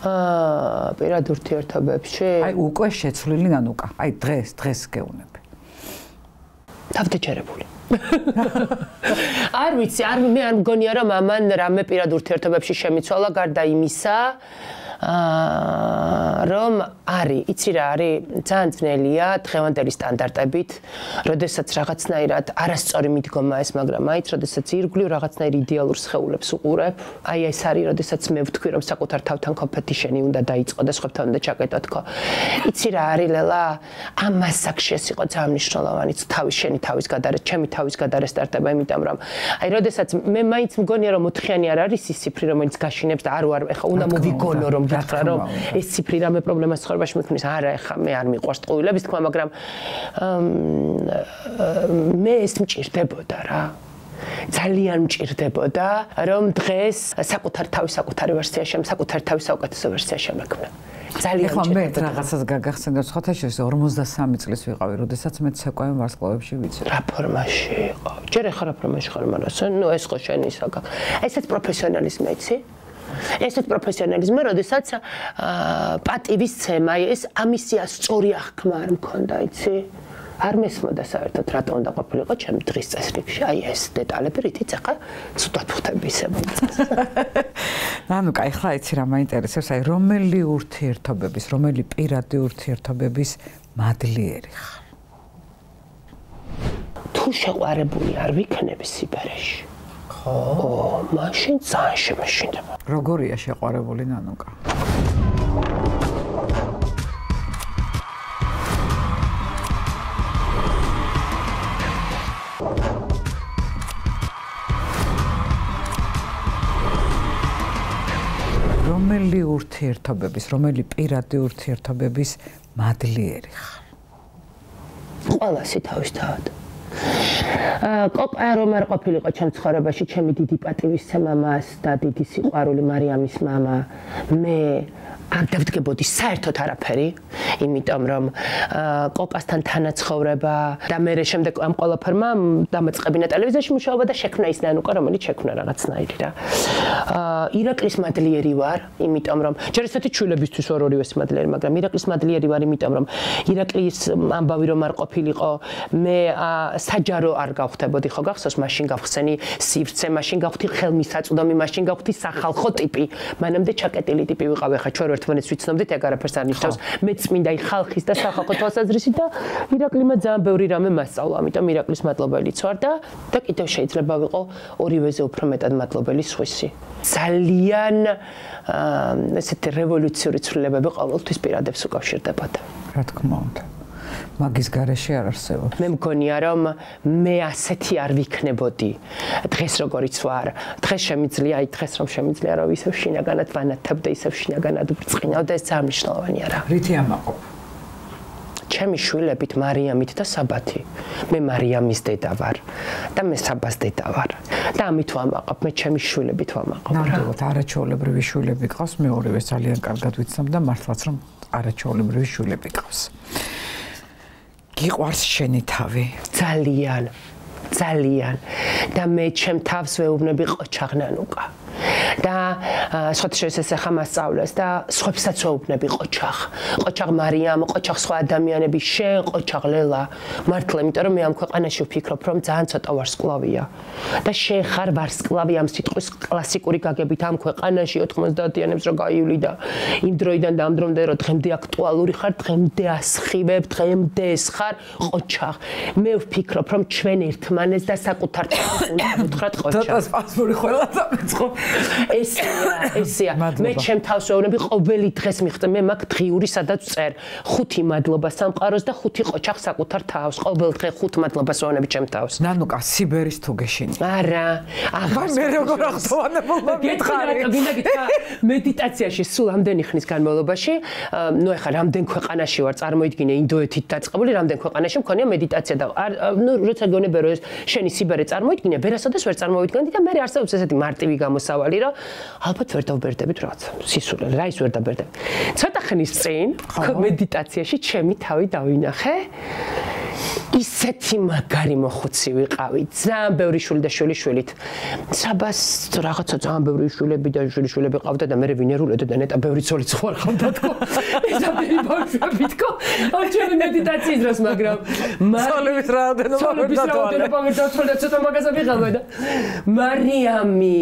აა, პირად ურთიერთობებში? აი, უკვე შეცვლილი ნანუკა. აი, დღეს, დღეს გეუნები. თავდაჯერებული. არ ვიცი, არ მე არ მგონია რომ ამან რამე პირად ურთიერთობებში შემიცვალა გარდა იმისა, აა რომ არის, იცი რა არის, ძალიან ძნელია დღევანდელი სტანდარტებით, როდესაც რაღაცნაირად არასწორი მიდგომა ეს, მაგრამ აიც, როდესაც ირგვლივ რაღაცნაირ იდეალურ სხეულებს უყურებ, აი ეს არის, როდესაც მე ვთქვი, რომ საკუთარ თავთან კომპეტიშენი უნდა დაიწყო და სხვებთან უნდა ჩაკეტო თქო. იცი რა არის, ლელა, ამას აქ ეს იყო ძალიან მნიშვნელოვანი, თავის შენი თავის გადარეს, ჩემი თავის გადარესტარტება, იმიტომ რომ აი, როდესაც მე მაინც მგონია რომ ოთხიანი არ არის ის ციფრი, რომელიც გაშინებს და არ ვარ, ეხა უნდა მოვიგონო რომ გითხრა რომ ეს ციფრი რამე პრობლემას ცხოვრებაში მიქმნის. არა, ეხა მე არ მიყვარს ტყუილების თქმა, მაგრამ მე ეს მჭირდებოდა რა. ძალიან მჭირდებოდა, რომ დღეს საკუთარ თავის საკუთარი ვერსია შემ, საკუთარ თავის საუკეთესო ვერსია შემექმნა. ძალიან ეხლა მე რაღაცას გაგახსენდა სხვათა შორის ორმოცდასამი წლის ვიყავი, როდესაც მე ცეკვავი ვარსკვლავებში ვიცი. რა ფორმაში იყო? ჯერ ახლა რა ფორმაში ხარ, მაგრამ ნუ ეს ხო შენი საკა. ესეც პროფესიონალიზმი იცი? ესეც პროფესიონალიზმი, როდესაც პატივის ცემა, ეს ამისია სწორი აღქმა არ მქონდა, იცი? არ მესმოდა საერთოდ რატომ უნდა ყოფილიყო ჩემ დღის წესრიგში, აი ეს დეტალები, რითიც ახლა ცუდად ვხდები ისე მომწონს. ნანუკა, ახლა იცი რა მაინტერესებს, აი რომელი ურთიერთობების, რომელი პირადი ურთიერთობების მადლიერი ხარ? თუ შეყვარებული არ ვიქნები სიბერეში. ხო, მაშინ ძალიან შემეშინდება. როგორია შეყვარებული ნანუკა? რომელი ურთიერთობების, რომელი პირადი ურთიერთობების მადლიერი ხარ? ყველასი თავისთავად. კოკა რომ არ ყოფილიყო ჩემ ცხოვრებაში, ჩემი დიდი პატივისცემა მას და დიდი სიყვარული მარიამის მამა, მე არ დავდგებოდი საერთოდ არაფერი, იმიტომ რომ კოკასთან თანაცხოვრება და მე შემდეგ ამ ყველაფერმა დამაწყებინა ტელევიზიაში მუშაობა და შექმნა ის ნანუკა, რომელიც შექმნა რაღაცნაირი რა. ირაკლის მადლიერი ვარ, იმიტომ რომ ჯერ ესეთი ჩულებისთვის ვარ ორივეს მადლიერი, მაგრამ ირაკლის მადლიერი ვარ, იმიტომ რომ ირაკლის ამბავი რომ არ ყოფილიყო, მე საჯარო არ გავხდებოდი, ხო გახსოვს, მაშინ გავხსენი სივრცე, მაშინ გავხდი ხელმისაწვდომი, მაშინ გავხდი სახალხო ტიპი, მანამდე ჩაკეტილი ტიპი ვიყავი, ხა ჩვენ ერთმანეთს ვიცნობდით, ეგ არაფერს არ ნიშნავს. მე წმინდა ხალხის და სახალხო თვალსაზრისით და ირაკლიმ ძალიან ბევრი რამე მასწავლა, ამიტომ ირაკლის მადლობელიც ვარ და და კიდევ შეიძლება ვიყო ორივეზე უფრო მეტად მადლობელი სხვისი. ძალიან ესეთი რევოლუციური ცვლილებები ყოველთვის პირადებს უკავშირდებოდა. რა თქმა უნდა. მაგის გარეშე არ არსებობს. მე მგონია რომ მე ასეთი არ ვიქნებოდი. დღეს როგორიც ვარ, დღეს შემიძლია, აი დღეს რომ შემიძლია რომ ისევ შინაგანად ვანათებდე, ისევ შინაგანად ვბრწყინავდე, ეს ძალიან მნიშვნელოვანია რა. რითი ამაყობ? ჩემი შვილებით მარიამით და საბათი. მე მარიამის დედა ვარ და მე საბას დედა ვარ. და ამით ვამაყობ, მე ჩემი შვილებით ვამაყობ. ნამდვილად არაჩვეულებრივი შვილები ყავს, მე ორივე ძალიან კარგად ვიცნობ და მართლაც რომ არაჩვეულებრივი შვილები ყავს. გიყვარს შენი თავი? ძალიან, ძალიან. და მე ჩემ თავს ვეუბნები ყოჩაღნანუკა. და სხვათა შორის ეს ახლა მასწავლეს და სხვებსაც ვეუბნები ყოჩაღ. ყოჩაღ მარიამ, ყოჩაღ სხვა ადამიანები, შენ ყოჩაღ ლელა. მართლა, იმიტომ რომ მე ამ ქვეყანაში ვფიქრობ, რომ ძალიან ცოტა ვარსკვლავია. და შენ ხარ ვარსკვლავი ამ სიტყვის კლასიკური გაგებით ამ ქვეყანაში ოთხმოცდაათიანებს რო გაივლი და იმ დროიდან და ამ დრომდე რო დღემდე აქტუალური ხარ, დღემდე ასხივებ, დღემდე ეს ხარ ყოჩაღ. მე ვფიქრობ, რომ ჩვენ ერთმანეთს და საკუთარ თავს უნდა ვუთხრათ ყოჩაღ. ცოტა სპასმური ყველა დამეწყო. ესეა, ესეა. მე ჩემ თავს ვეუბნები ყოველი დღეს მიხდე, მე მაგ დღიური სადაც წერ. ხუთი მადლობა სამყაროს და ხუთი ყოჩაღ საკუთარ თავს. ყოველ დღე ხუთ მადლობას ვეუბნები ჩემ თავს. ნანუკა, სიბერის თუ გეშინი. არა, აღარ მე როგორ ახსოვანებულმა მითხარი. გინდა გითხრა, მედიტაციაში სულ ამდენი ხნის განმავლობაში, ნუ ეხლა რამდენ ქვეყანაში ვარ, წარმოიდგინე ინდოეთით დაწყებული, რამდენ ქვეყანაში მქონია მედიტაცია და ნუ როცა გონებე რომ შენი სიბერე წარმოიდგინე, ვერასოდეს ვერ წარმოვიდგენდი და მე არსებობს ესეთი მარტივი გამოსავალი, რომ ალბათ ვერ დავბერდებით რაღაცა სისულელე, რა ის ვერ დავბერდები. ცოტა ხნის წინ მედიტაციაში ჩემი თავი დავინახე. ისეთი მაგარი მოხუცი ვიყავი, ძალიან ბევრი შვილი და შვილიშვილით. საბას რაღაცა ძალიან ბევრი შვილები და შვილიშვილები ყავდა და მე ვინერულედა და ნეტა ბევრი ცოლიც ხوار ხავდა თქო. ეს ამბები ბავშვები თქო. ამ ჩემი მედიტაციის დროს, მაგრამ ცოლების რაოდენობა ვერ დათვალე. ვერ დათვალე, ცოტა მაგაზე ვიყავი და მარიამი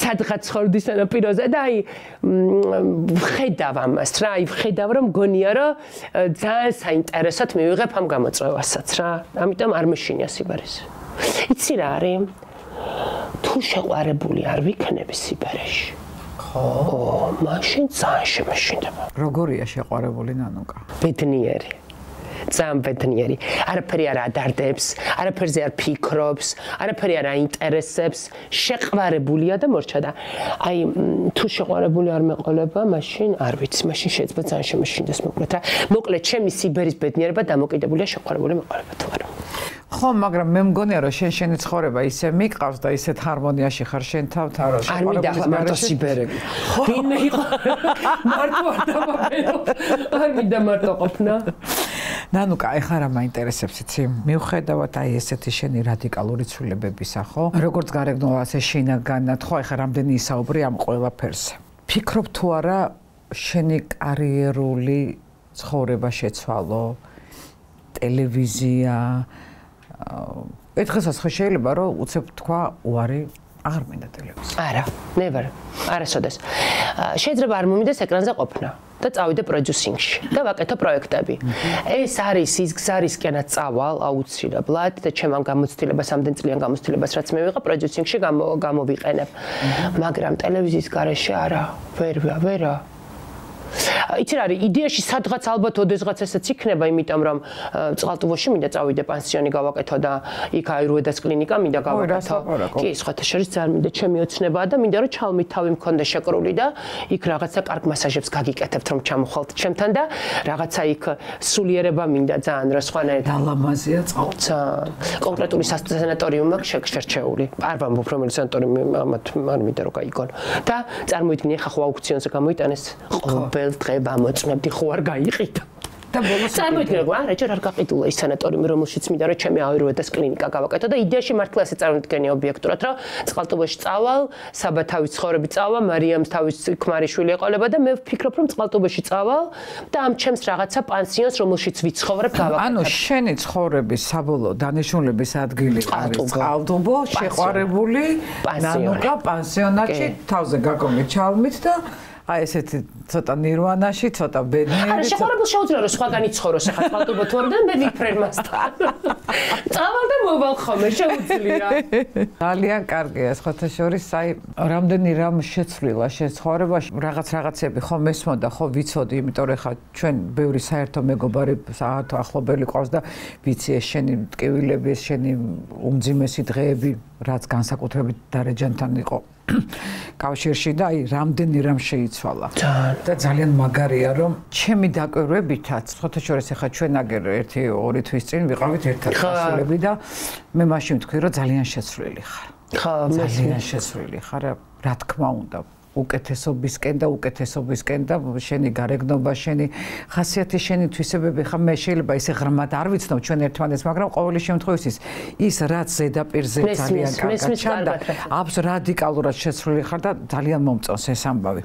სადღაც ხორდის სანაპიროზე და აი ვხედავ ამას რა, აი ვხედავ რომ გონია რომ ძალიან საინტერესოდ მივიღებ ამ გამოწვევასაც რა. ამიტომ არ მეშინია სიბერეს. იცი რა არის? თუ შეყვარებული არ ვიქნები სიბერეში. ხო, მაშინ ძალიან შემეშინდება. როგორია შეყვარებული ნანუკა? ბედნიერი. ძალიან ბედნიერი. არაფერი არ ადარდებს, არაფერზე არ ფიქრობს, არაფერი არ აინტერესებს, შეყვარებულია და მორჩა და აი თუ შეყვარებული არ მეყოლება, მაშინ არ ვიცი, მაშინ შეიძლება ძალიან შემეშინდეს მოკლედ რა. მოკლედ ჩემი სიბერის ბედნიერება დამოკიდებულია შეყვარებული მეყოლებათ ვარ. ხო, მაგრამ მე მგონია რომ შენ შენი ცხოვრება ისე მიყავს და ისეთ ჰარმონიაში ხარ შენ თავთან რომ არ მინდა ახლა მარტო სიბერები. ვინმე იყო მარტო არ დამაბერო. არ მინდა მარტო ყოფნა. ნანუკა, ეხლა რა მაინტერესებს იცი? მიუხედავად აი ესეთი შენი რადიკალური ცვლილებებისა, ხო? როგორც გარეგნულად ასე შინაგანად, ხო, ეხლა რამდენი ისაუბრი ამ ყველაფერზე. ფიქრობ თუ არა შენი კარიერული ცხოვრება შეცვალო, ტელევიზია, ერთხელაც ხო შეიძლება რომ უცებ თქვა უარი აღარ მინდა ტელევიზია. არა, never. არასოდეს. შეიძლება არ მომიდეს ეკრანზე ყოფნა და წავიდე პროდიუსინგში და ვაკეთო პროექტები. ეს არის ის გზარისკენაც წავალ აუცილებლად და ჩემ ამ გამოცდილებას, ამდენ წლიან გამოცდილებას რაც მე ვიყავ პროდიუსინგში გამოვიყენებ. მაგრამ ტელევიზიის გარეშე არა, ვერ ვერა. იცი რა არის იდეაში სადღაც ალბათ ოდესღაც ესეც იქნება, იმიტომ რომ წყალტუბოში მინდა წავიდე პანსიონი გავაკეთო და იქ აირუედას კლინიკა მინდა გავაკეთო. კი, სხვათა შორის ძალიან მინდა ჩემი ოცნებაა და მინდა რომ ჩალმით თავი მქონდა შეკრული და იქ რაღაცა კარგ მასაჟებს გაგიკეთებთ რომ ჩამოხვალთ ჩემთან და რაღაცა იქ სულიერება მინდა ძალიან რა სხვანაირად. დალამაზია წყალ. კონკრეტული სანატორიუმი მაქვს შერჩეული. არ ვამბობ რომელი სანატორიუმი ამათ არ მინდა რომ გაიგონო. და წარმოიდგინე ხა ხო აუქციონზე გამოიტანეს ყოველ დღე ამოწმებდი ხო არ გაიყიდა. და ბოლოს წარმოიდგინე რა რაჭერ არ გაყიდულა ის სანატორიუმი რომელშიც მინდა რომ ჩემი აირუედას კლინიკა გავაკეთო და იდეაში მართლა ესე წარმოიდგენია ობიექტურად რომ წყალტუბოში წავალ, საბათავის ცხოვრები წავალ, მარიამს თავის ქმარიშვილი ეყოლება და მე ვფიქრობ რომ წყალტუბოში წავალ და ამ ჩემს რაღაცა პანსიონს რომელშიც ვიცხოვრებ გავაკეთებ. ანუ შენი ცხოვრების საბოლოო დანიშნულების ადგილი არის წყალტუბო, შეყვარებული ნანუკა პანსიონატში თავზე გაკომი ჩალმით და აი ესეთი ცოტა ნირვანაში, ცოტა ბედნიერი. არა, შეყვარებულ შეუძლია რომ სხვაგანი ცხოვროს ახლა წყალტუბო თუ არ და მე ვიფრენ მასთან. წავალ და მოვალ ხოლმე შეუძლია. ძალიან კარგია, სხვათა შორის, აი რამდენი რამ შეცვლილა შენ ცხოვრებაში, რაღაც რაღაცები ხო მესმოდა, ხო ვიცოდი, იმიტომ რომ ხა ჩვენ ბევრი საერთო მეგობარი საათო ახლობელი ყავს და ვიცი ეს შენი ტკივილები, ეს შენი უმძიმესი დღეები, რაც განსაკუთრებით დარეჯანთან იყო. კავშირში და აი რამდენი რამ შეიცვალა და ძალიან მაგარია რომ ჩემი დაკვირვებითაც ხოთა შორის ახლა ჩვენ აგერ ერთი ორი თვის წინ ვიყავით ერთად გასულები და მე მაშინ ვთქვი რომ ძალიან შეცვლილი ხარ. ხო, ძალიან შეცვლილი ხარ, რა თქმა უნდა. უკეთესობისკენ და უკეთესობისკენ და შენი გარეგნობა, შენი ხასიათი, შენი თვისებები ხა მე შეიძლება ისე ღრმად არ ვიცნობ ჩვენ ერთმანეთს, მაგრამ ყოველი შემთხვევაში ის რაც ზედაპირზე ძალიან კარგად ჩანდა, აბს რადიკალურად შეცვლილი ხარ და ძალიან მომწონს ეს ამბავი.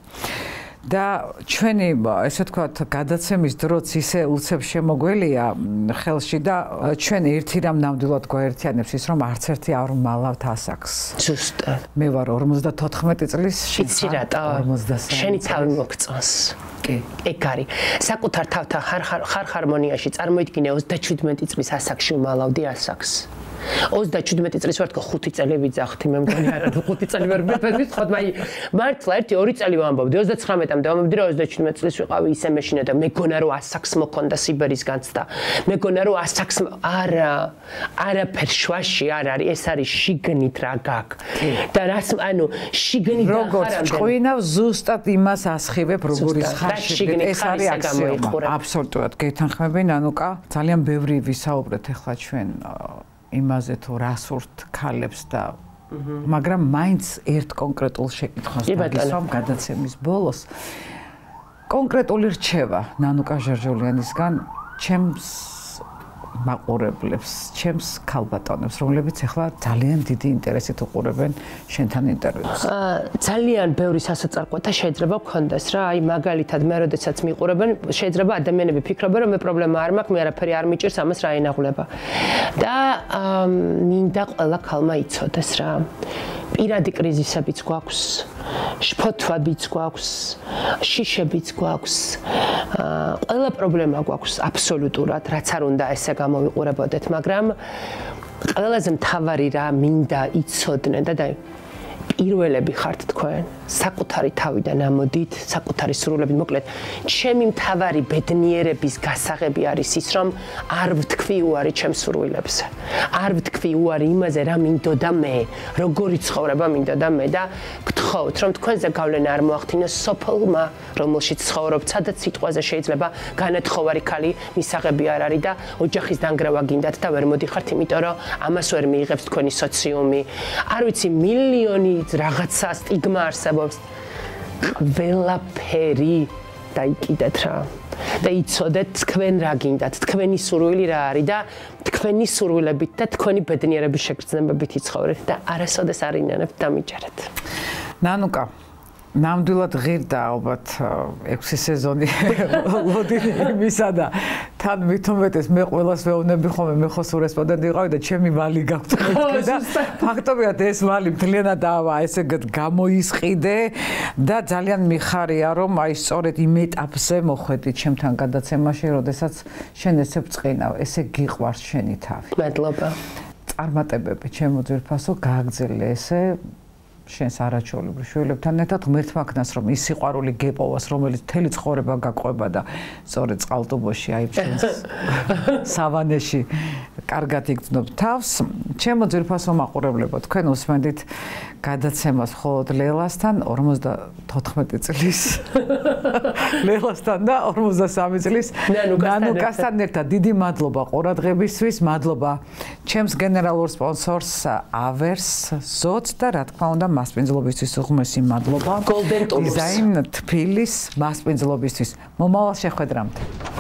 და ჩვენი ესე ვთქვათ გადაცემის დროც ისე უცებ შემოგველია ხელში და ჩვენ ერთი რამ ნამდვილად გვაერთიანებს ის რომ არც ერთი არ მალავთ ასაკს. ზუსტად. მე ვარ ორმოცდათოთხმეტი წლის, იცი რატო? შენი თავი მოგწონს. კი, ეგ არის. საკუთარ თავთან ხარ ხარ ჰარმონიაში წარმოიდგინე ოცდაჩვიდმეტი წლის ასაკში მალავდი ასაკს. ოცდაჩვიდმეტი წლის ვარ თქო ხუთი წელი ვიძახთი მე მგონი არა ხუთი წელი ვერ მეთქვა მაი მართლა ერთი ორი წელი ვამბობდი ოცდაცხრამეტამდე ვამბობდი რომ ოცდაჩვიდმეტი წლის ვიყავი ისე მეშინე და მეგონა რომ ასაკს მოქონდა სიბერის განცდა მეგონა რომ ასაკს არა არაფერ შვაში არ არის ეს არის შიგნით რა გაქვს და რას ანუ შიგნით როგორც ჭყვინავ ზუსტად იმას ასხივებ როგორი ხარში ეს არის აქსიომა აბსოლუტურად გეთანხმები ნანუკა ძალიან ბევრი ვისაუბრეთ ახლა ჩვენ იმაზე თუ რას ვურთ ქალებს და მაგრამ მაინც ერთ კონკრეტულ შეკითხვას დაგისვამ გადაცემის ბოლოს კონკრეტული რჩევა ნანუკა ჟერჟოლიანისგან ჩემს მაყურებლებს, ჩემს ქალბატონებს, რომლებიც ახლა ძალიან დიდი ინტერესით უყურებენ შენთან ინტერვიუს. ძალიან ბევრი სასოწარკვეთა შეიძლება გქონდეს რა, აი მაგალითად მე როდესაც მიყურებენ, შეიძლება ადამიანები ფიქრობენ რომ მე პრობლემა არ მაქვს, მე არაფერი არ მიჭირს, ამას რა ენაღვლება. და მინდა ყველა ქალმა იცოდეს რა. პირადი კრიზისებიც გვაქვს, შფოთვებიც გვაქვს, შიშებიც გვაქვს. ყველა პრობლემა გვაქვს აბსოლუტურად, რაც არ უნდა ესე გამოვიყურებოდეთ, მაგრამ ყველაზე მთავარი რა მინდა იცოდნენ და პირველები ხართ თქვენ, საკუთარი თავიდან ამოდით, საკუთარი სრულებით, მოკლედ, ჩემი მთავარი ბედნიერების გასაღები არის ის, რომ არ ვთქვი უარი ჩემს სრულებზე. არ ვთქვი უარი იმაზე, რა მინდოდა მე, როგორი ცხოვრება მინდოდა მე და გთხოვთ, რომ თქვენზე გავლენა არ მოახდინოს სოფლმა, რომელშიც ცხოვრობ, სადაც სიტყვაზე შეიძლება განათხოვარი ქალი მისაღები არ არის და ოჯახის დანგრევა გინდათ და ვერ მოდიხართ, იმიტომ რომ ამას ვერ მიიღებს თქვენი სოციუმი. არ ვიცი, მილიონი რაღაცა სტიგმა არსებობს. ყველაფერი დაიკიდეთ რა. და იცოდეთ თქვენ რა გინდათ, თქვენი სურვილი რა არის და თქვენი სურვილებით და თქვენი ბედნიერების შეგრძნებებით იცხოვრეთ და არასოდეს არ ინანებთ დამიჯერეთ. ნანუკა ნამდვილად ღირდა ალბათ ექვსი სეზონი ლოდინი იმისა და თან მithumetes მე ყველას ვეუბნები ხოლმე მე ხო სულ რესპონდენტი ვიყავი და ჩემი ვალი გაქვთ და ფაქტობრივად ეს ვალი მთლიანად ავა ესე გამოისყიდე და ძალიან მიხარია რომ აი სწორედ იმ ეტაპზე მოხვედი ჩემთან გადაცემაში როდესაც შენ ესე ბწყინავ ესე გიყვარს შენი თავი მადლობა წარმატებები ჩემო ძვირფასო გააგზელე ესე შენს არაჩვეულებრივ შვილებთან ერთად ღმერთმაგნას რომ ის სიყვარული გეპოვას რომელიც მთელი ცხოვრება გაყვება და სწორედ წყალტუბოში აი ჩვენს სავანეში კარგად იგრძნობ თავს ჩემო ძვირფასო მაყურებლებო თქვენ უსმენთ გადაცემას მხოლოდ ლელასთან ორმოცდათოთხმეტი წლის ლელასთან და ორმოცდასამი წლის ნანუკასთან ერთად დიდი მადლობა ყურადღებისთვის მადლობა ჩემს გენერალურ სპონსორს ავერს ზოც და რა თქმა უნდა მასპინძლობისთვის უღმესი მადლობა გოლდენ ტულს დიზაინ თბილის მასპინძლობისთვის მომავალ შეხვედრამდე